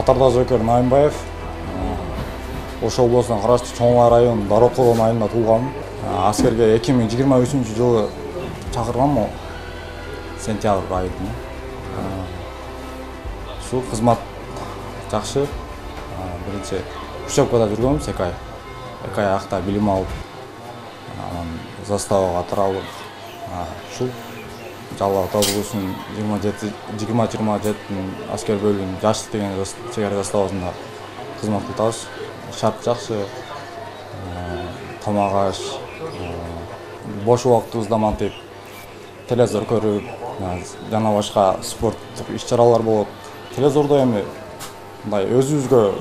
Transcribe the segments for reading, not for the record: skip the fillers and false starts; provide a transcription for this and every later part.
Катардагы жоокер Наимбаев. Ош облусуна караштуу Чоң Ала районунун Дароколон айылында туулгам. Аскерге 2023-жылы чакыргам, сентябрь айында. Ушул кызмат жакшы. Биринчи учебкада жүргөм 2 ай. 2 ай акта билим алып, анан заставага таралып, ушул Жалал Абталовдун 20-27 аскер бөлүгүнүн жаштык деген чек ара заставасында кызмат кылабыз. Шарт жакшы, тамак аш, бош убактыбызда мантип телевизор көрүп, жана башка спорттук иш-чаралар болот. Телевизордо эми мындай өзүбүзгө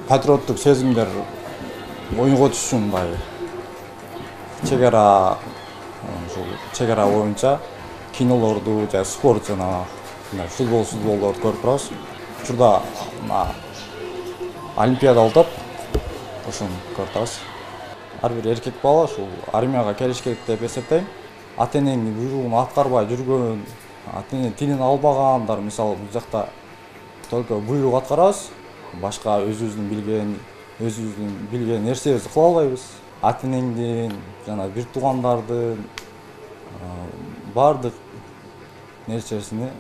патриоттук сезимдер ойготуш үчүн мындай чек ара боюнча кинолорду же спорт жана футболдорду көрүп турабыз. Учурда Олимпиада болуп, ошону көрүп турабыз. Ар бир эркек бала ушул армияга келиш керек деп эсептейм. Ата-эненин буйругун аткарбай жүргөн, ата-эне тилин албагандар, мисалы бул жакта только буйрук аткарабыз, башка өзүбүздүн билген нерсебизди кыла албайбыз. Ата-энеңдин жана бир туугандардын бардык нерсесини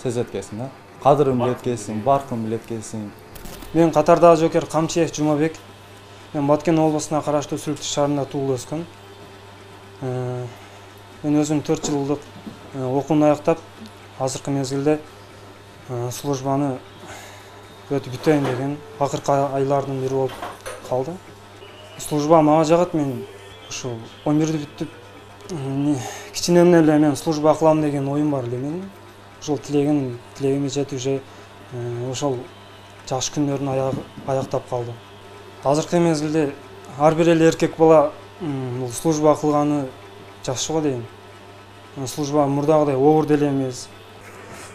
сезет экенсиң да. Кадырын билет экенсиң, баркын билет экенсиң. Мен Катардагы жоокер Камчиев Жумабек. Мен Баткен облусуна караштуу Сүлүктү шаарында туулуп өскөм. Мен өзүм 4 жылдык окууну аяктап, азыркы мезгилде службаны өтүп бүтөйүн деген акыркы айлардын бири болуп калды. Служба мага жагат. Мен ушул 11-ди бүттүп, кичинемден эле мен служба кылам деген оюм бар эле менин. Ушул тилегиме жетип уже ошол жакшы күндөрүн аяктап калды. Азыркы мезгилде ар бир эле эркек бала бул служба кылганы жакшы го дейм. Служба мурдагыдай оор деле эмес.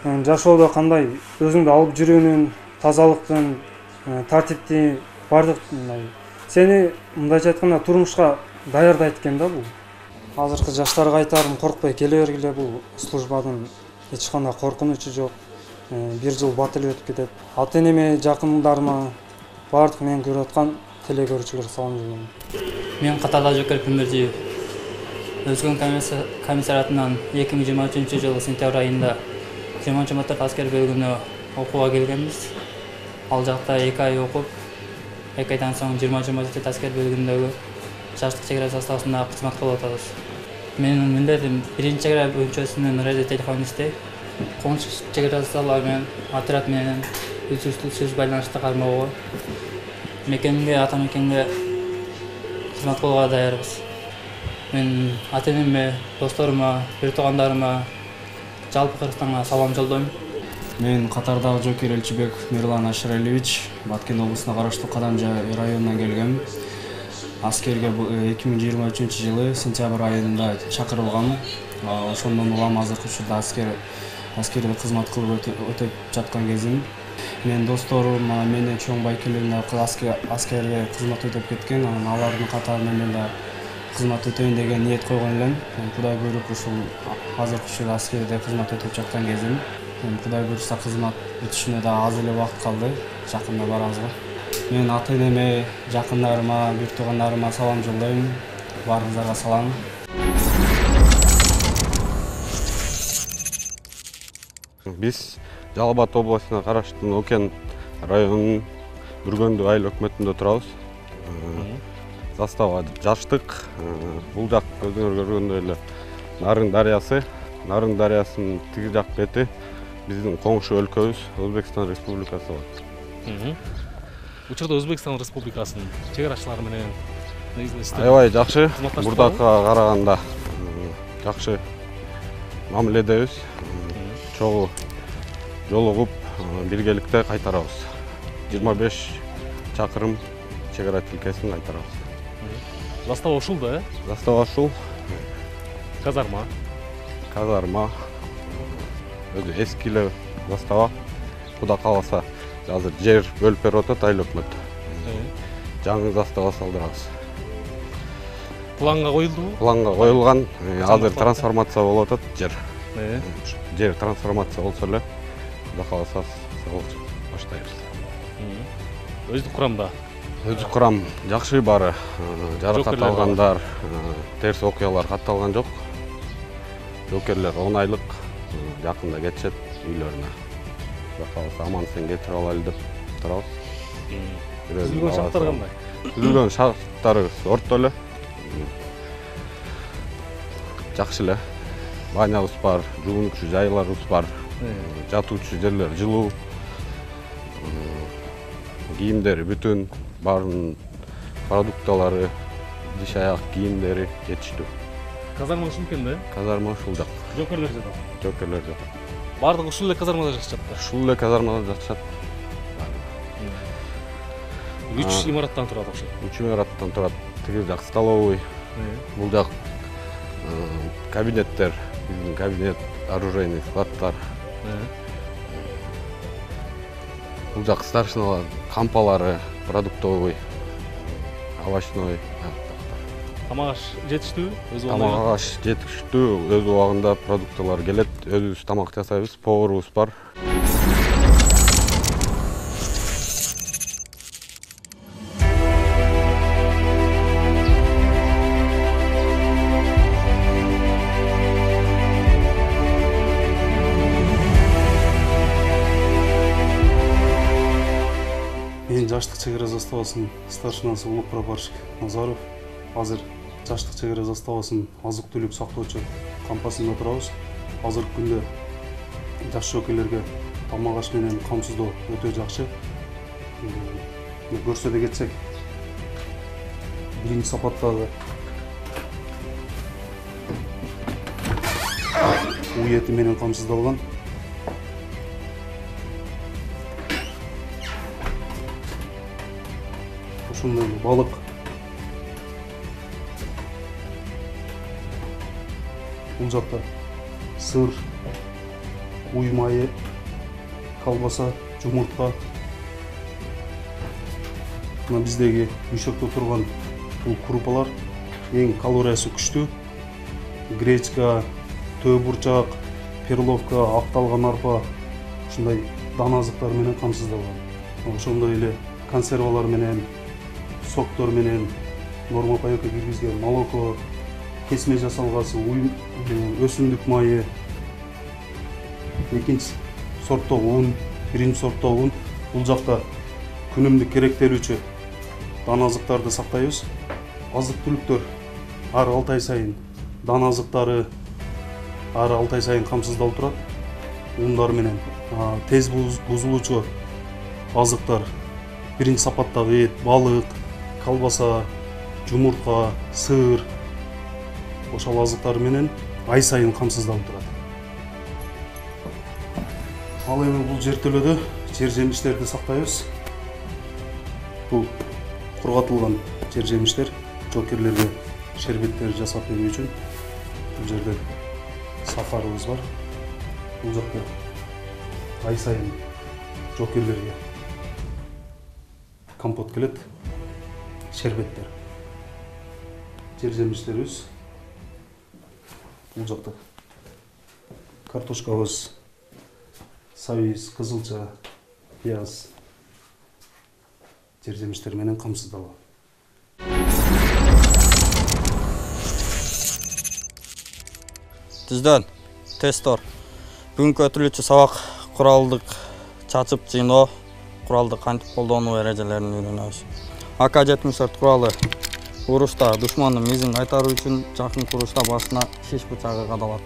Жашоодо кандай өзүңдү алып жүрүүнүн, тазалыктын, тартипти бардык мындай сени мындайча айтканда турмушка даярдайт экен да бул. Азыркы жаштарга айтарым, коркпой келе бергиле, бул службадын эч кандай коркунучу жок. 1 жыл бат эле өтүп кетет. Ата-энеме, жакындарыма, бардык мени көрүп аткан телекөрүүчүлөргө салам жолдойм. Мен Катардагы жоокер Пимиржиев. Өзгөн комиссариатынан 2023-жылы сентябрь айында 20-24 аскер бөлүгүнө окууга келгенбиз. Ал жакта 2 ай окуп, 2 айдан соң 20-27 аскер бөлүгүндөгү жаштык чек ара заставасында кызмат кылып атабыз. Менин милдетим биринчи чек ара бөлүнчөсүнүн радиотелефонисти. Коңшу чек ара заставалар менен отряд менен үзүлүшсүз байланышта кармоого, мекенге, ата мекенге кызмат кылууга даярбыз. Мен ата-энеме, досторума, бир туугандарыма, жалпы Кыргызстанга салам жолдойм. Мен Катардагы жоокер Элчибек Мирлан Ашыралиевич, Баткен облусуна караштуу Кадамжа районунан келгем. Аскерге 2023-жылы сентябрь айында чакырылгам. Ошондон улам азыркы учурда аскерде кызмат кылып өтүп жаткан кезим. Менин досторум менен чоң байкелеринде аскерге кызмат өтүп кеткен. Алардын катарында мен да кызмат өтөйүн деген ниет койгон элем. Кудай буйруп ушул азыркы учурда аскерде кызмат өтүп жаткан кезим. Кудай буйруса кызмат өтүшүнө да аз эле убакыт калды. Жакында барабызга. Мен ата-энеме, жакындарыма, бир туугандарыма салам жолдойм. Баарыңыздарга салам. Биз Жалал Абад областына караштуу Нокен районунун Бүргөндү айыл өкмөтүндө турабыз. Застава жаштык. Бул жак өзүңөр көргөндөй эле Нарын дарыясы. Нарын дарыясынын тиги жак бети биздин коңшу өлкөбүз Өзбекстан Республикасы болот. Учурда Өзбекстан Республикасынын чек арачылары менен аябай жакшы, мурдакыга караганда жакшы мамиледебиз. Чогуу жолугуп биргеликте кайтарабыз. 25 чакырым чек ара тилкесин кайтарабыз. Застава ушул да, Застава ушул. Казарма. Өзү эскиле застава. Куда каласа азыр жер бөлүп берип атат айыл өкмөт. Жаңы застава салдырабыз. Планга коюлдубу? Планга коюлган. Азыр трансформация болуп атат жер. Жер трансформация болсо эле куда каласа баштайбыз. Өздүк курамда. Өздүк курам жакшы баары. Жаракат алгандар, терс окуялар катталган жок. Жокерлер 10 айлык жакында кетишет үйлөрүнө. Калса аман сен кетирип алайлы деп турабыз. Түзүлгөн шарттар кандай? Түзүлгөн шарттарыбыз орто эле. Жакшы эле. Банябыз бар, жуунуучу жайларыбыз бар. Жатуучу жерлер жылуу. Кийимдери бүтүн, баардын продукталары, диш аяк кийимдери жетиштүү. Казарма ушул экен да? Казарма ушул жак. Жокерлер жатат. Жокерлер жатат. Бардыгы ушул эле казармада жашашат да. Ушул эле казармада жашашат. 3 имараттан турат окшойт. 3 имараттан турат. Тиги жак столовый. Бул жак кабинеттер, биздин кабинет, оружейный складтар. Бул жак старшиналар, кампалары, продуктовый, овощной. Тамак аш жетиштүүбү? Тамак аш жетиштүү, өз убагында продукталар келет, өзүбүз тамак жасайбыз, поварыбыз бар. Мен жаштык чек ара заставасынын старшинасы Улук прапорщик Назаров. Азыр жаштык чек ара заставасынын азык-түлүк сактоочу кампасында турабыз. Азыркы күндө жаш жокейлерге тамак аш менен камсыздоо өтө жакшы. Көрсөтө кетсек, биринчи сапаттагы уй эти менен камсыздалган. Ошондой балык, бул жакта сыр, уй майы, колбаса, жумуртка. Мына биздеги үйшөктө турган бул крупалар эң калориясы күчтүү. Гречка, төө бурчак, перловка, акталган арпа, ушундай дана азыктар менен камсыздалган. Ошондой эле консервалар менен, соктор менен, норма паёкко киргизген молоко, кесме жасалгасы, өсүмдүк майы, экинчи сорттогу ун, биринчи сорттогу ун. Бул жакта күнүмдүк керектелүүчү дана азыктарды сактайбыз. Азык-түлүктөр ар 6 ай сайын, дана азыктары ар 6 ай сайын камсыздалып турат. Ундар менен тез бузулуучу азыктар, биринчи сапаттагы эт, балык, колбаса, жумуртка, сыр, ошол азыктар менен ай сайын камсыздалып турат. Ал эми бул жертөлөдө жер жемиштерди сактайбыз. Бул кургатылган жер жемиштер, жокерлерге шербеттер жасап берүү үчүн. Бул жерде сахарыбыз бар. Бул жакта ай сайын жокерлерге компот келет, шербеттер. Жер жемиштерибиз. Бул жакта картошкабыз, сабиз, кызылча, пияз, жер жемиштер менен камсыздалган. Түздөн тестор. Бүгүнкү өтүлүүчү сабак куралдык чачып жыйноо, куралды кантип колдонуу эрежелерин үйрөнөбүз. АК-74 куралы урушта душмандын мизин кайтаруу үчүн жакын урушта башына шиш бычагы кадалат.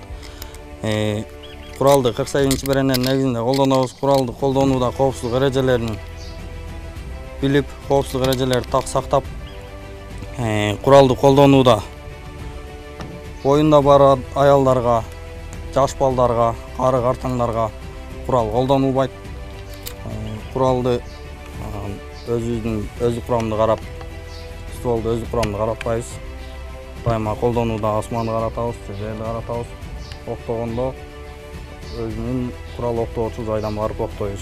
Куралды 48 беренен негизинде колдонобуз. Куралды колдонууда коопсуздук эрежелерин билип, коопсуздук эрежелерди так сактап, куралды колдонууда боюнда бар аялдарга, жаш балдарга, кары картаңдарга курал колдонулбайт. Куралды өздүк курамды карап, стволду өздүк курамды каратпайбыз. Дайыма колдонууда асманды каратабыз, жерди каратабыз. Октогондо өзүнүн курал октоочу жайдан барып октойбуз.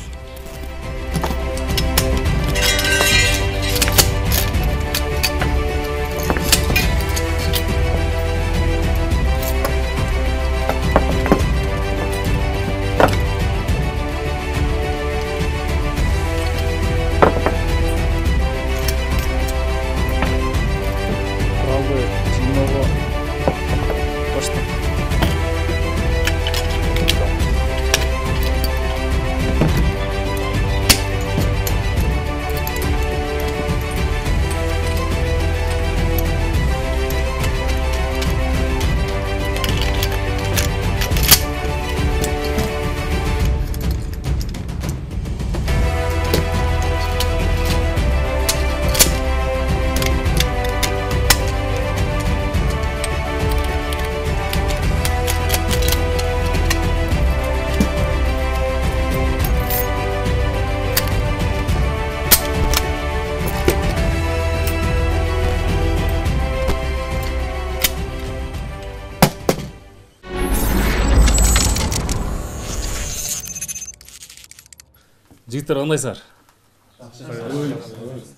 Жигиттер кандайсыңар?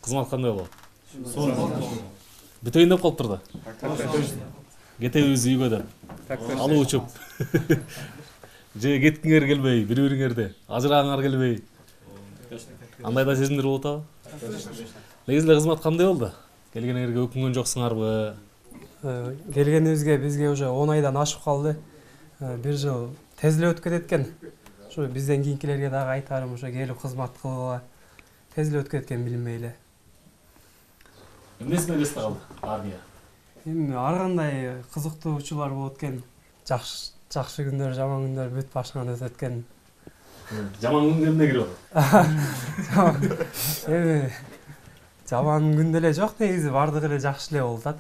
Кызмат кандай болот? Бүтөйүн деп калыптыр да. Кетебиз үйгө деп. Алып учуп. Же кеткиңер келбей, бири-бириңерди ажырагыңар келбей. Андай да сезимдер болот абы? Негизи эле кызмат кандай болду? Келгениңерге өкүнгөн жоксуңарбы? Келгенибизге бизге уже 10 айдан ашып калды. 1 жыл тез эле өтүп кетет экен. Ушу бизден кийинкилерге дагы айтарым, ушу келип кызмат кылгыла. Тез эле өтүп кеткен билинбей эле. Эмнесине эсте калды армия? Эми ар кандай кызыктуучулар болот экен. Жакшы күндөр, жаман күндөр бүт башынан өтөт экен. Жаман күнгө эмне кирип атат? Эми жаман күн деле жок, негизи бардыгы эле жакшы эле болуп атат.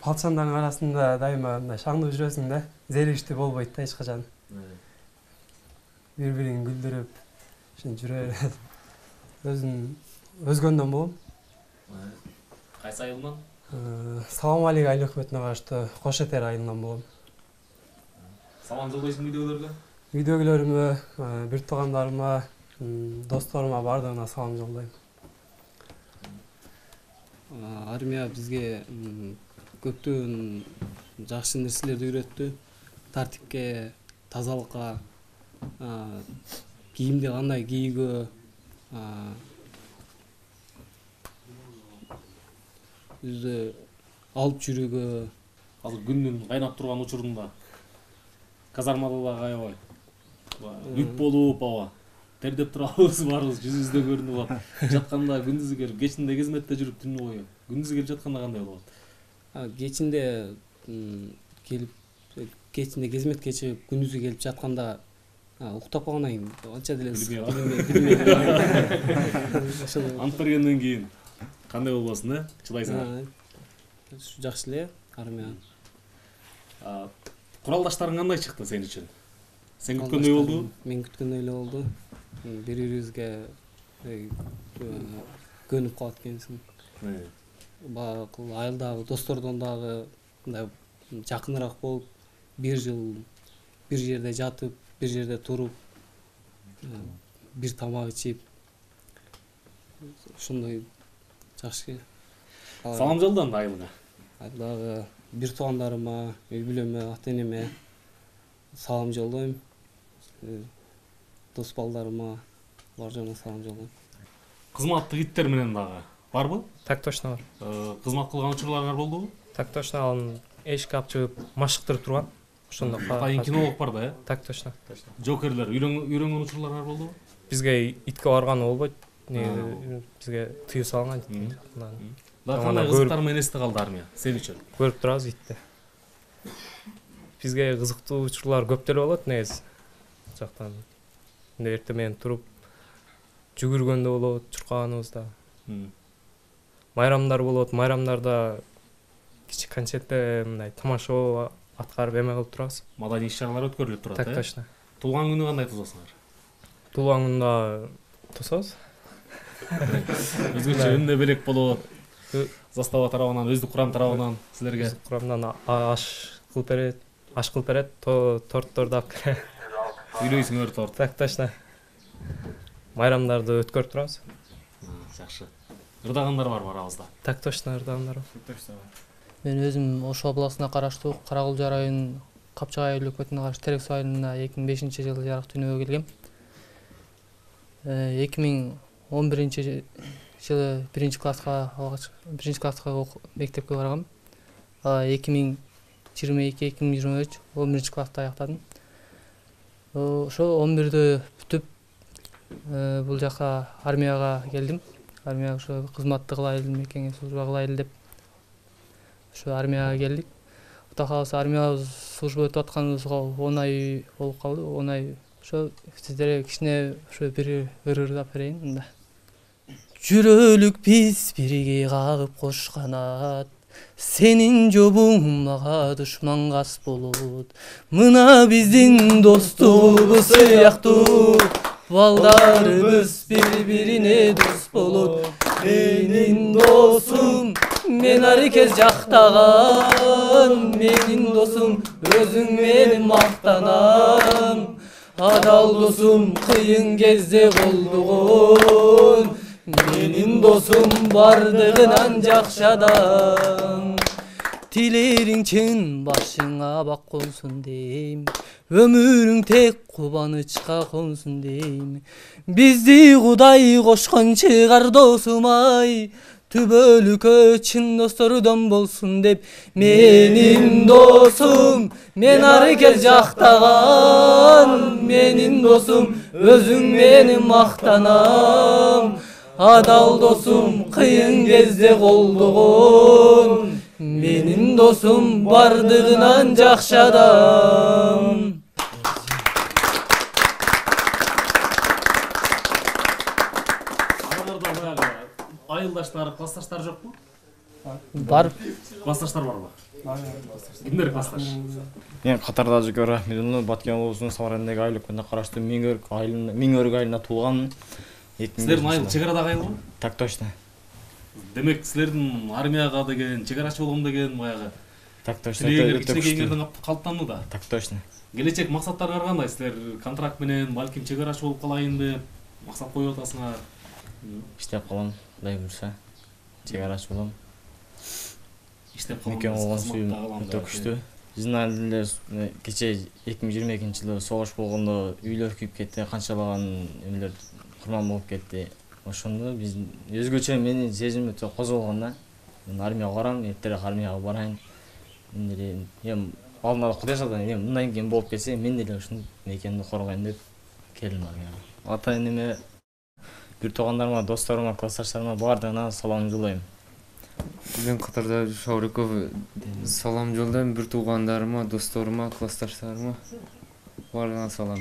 Палчандардын арасында дайыма мындай шаңдуу жүрөсүң да, зеригиштүү болбойт да эч качан. Бири-бирин күлдүрүп, ушинтип жүрө берет. Өзгөндөн болом. Кайсы айылынан? Салам алейк айыл өкмөтүнө караштуу Кош Этер айылынан болом. Салам жолдойсуң үйдөгүлөргө? Үйдөгүлөрүмө, бир туугандарыма, досторума бардыгына салам жолдойм. Армия бизге көптөгөн жакшы нерселерди үйрөттү. Тартипке, тазалыкка, кийимди кандай кийүүгө, өзү алып жүрүүгө. Азыр күндүн кайнап турган учурунда казармада дагы аябай үп болуп аба тердеп турабыз, баарыбыз жүзүбүздө көрүнүп атат. Жатканда күндүзү келип, кечинде кызметте жүрүп түнү бою. Күндүзү келип жатканда кандай болот? Кечинде келип, кечинде кызметке чыгып, күндүзү келип жатканда уктап калгандан кийин анча деле билбей. Ант бергенден кийин кандай болбосун, чыдайсыңар? Жакшы эле армия. Куралдаштарың кандай чыкты сен үчүн? Сен күткөндөй болдубу? Мен күткөндөй эле болду. Бири-бирибизге көнүп калат экенсиң. Айылдагы достордон дагы мындай жакыныраак болуп, 1 жыл бир жерде жатып, бир жерде туруп, бир тамак ичип, ошондой жакшы. Салам жолдоң айылга? Айылдагы бир туугандарыма, үй бүлөмө, ата-энеме салам жолдойм. Дос балдарыма баарына салам жолдойм. Кызматтык иттер менен дагы барбы? Так точно бар. Кызмат кылган учурларыңар болдубу? Так точно, анын эшикке алып чыгып машыктырып турган. Ошондо атайын кинолог бар да, э? Так точно. Жокерлер үйрөнгөн учурларыңар болдубу? Бизге итке барганы болбойт. Бизге тыюу салынган. Да кандай кызыктар менен эсте калды армия сен үчүн? Көрүп турабыз итти. Бизге кызыктуу учурлар көп деле болот негизи. Жактан эртең менен туруп жүгүргөндө болот, чуркаганыбызда. Майрамдар болот, майрамдарда кичи концертте мындай тамаша аткарып эме кылып турабыз. Маданий иш-чаралар өткөрүлүп турат, Так точно. Туулган күнү кандай тососуңар? Туулган күндө тособуз. Өзгөчө эмне белек болот? Застава тарабынан, өздүк курам тарабынан силерге курамдан аш кылып берет, тортторду алып келет. Үйлөйсүңөр торт. Так точно. Майрамдарды өткөрүп турабыз. Жакшы. Ырдагандар барбы арабызда? Так точно, ырдагандар бар. Мен өзүм Ош областына караштуу Каракулжа районунун Капчак айыл өкмөтүнө караштуу Терек Суу айылында 2005-жылы жарык дүйнөгө келгем. 2011-жылы 1-класска мектепке баргам. 2022-2023 11-класста аяктадым. Ошо 11-дө бүтүп бул жака армияга келдим. Армияга ошо кызматты кылайлы, мекенге служба кылайлы деп ошо армияга келдик. Кудай кааласа армия служба өтүп атканыбызга 10 ай болуп калды. 10 ай ошо сиздерге кичине ошо бир ырдап берейин мында. Жүрөлүк биз бирге кагып кош канат, сенин жобуң мага душман кас болот. Мына биздин достугубуз сыяктуу, балдарыбыз бири-бирине дос болот. Менин досум, мен аркез жактаган, менин досум, өзүң менин мактанам. адал досум кыйын кезде колдогон, менин досум бардыгынан жакшы адам. Тилериң чын башыңа бак консун дейм, өмүрүң тек кубанычка консун дейм. Бизди Кудай кошкон чыгар досум ай, түбөлүккө чын достордон болсун деп. Менин досум, мен ары кел жактаган, менин досум, өзүң мени мактанам. Адал досум кыйын кезде колдогон, менин досум бардыгынан жакшы адам. Араларда баягы айылдаштар, классташтар жокпу? Бар. Классташтар барбы? Кимдер классташ? Мен Катарда Жөкөр Рахметуллу, Баткен облусунун Савар районундагы айыл өкмөтүнө караштуу Миңөрүк айылына туулган. Силердин айыл чек арадагы айылбы? Так точно. Демек силердин армияга деген, чек арачы болгом деген баягы Так точно. кичинекейиңерден калыптанууда. Так точно. Келечек максаттарыңар кандай? Силер контракт менен балким чек арачы болуп калайын деп максат коюп атасыңар. Иштеп калам, Кудай буйрса. Чек арачы болом. Иштеп калам. Мекен болгон сүйүм өтө күчтүү. Биздин айылда кече 2022-жылы согуш болгондо үйлөр күйүп кетти, канчалаган эмелер курман болуп кетти. Ошондо биз өзгөчө менин сезим өтө козголгон да. Мен армияга барам, эртерээк армияга барайын. Мен деле алдына Кудай салган, мындан кийин болуп кетсе, мен деле ушул мекенди коргойм деп келдим армияга. Ата энеме, бир туугандарыма, досторума, классташтарыма баардыгына салам жолдойм. Мен Катарда Шауриков салам жолдойм бир туугандарыма, досторума, классташтарыма баардыгына салам.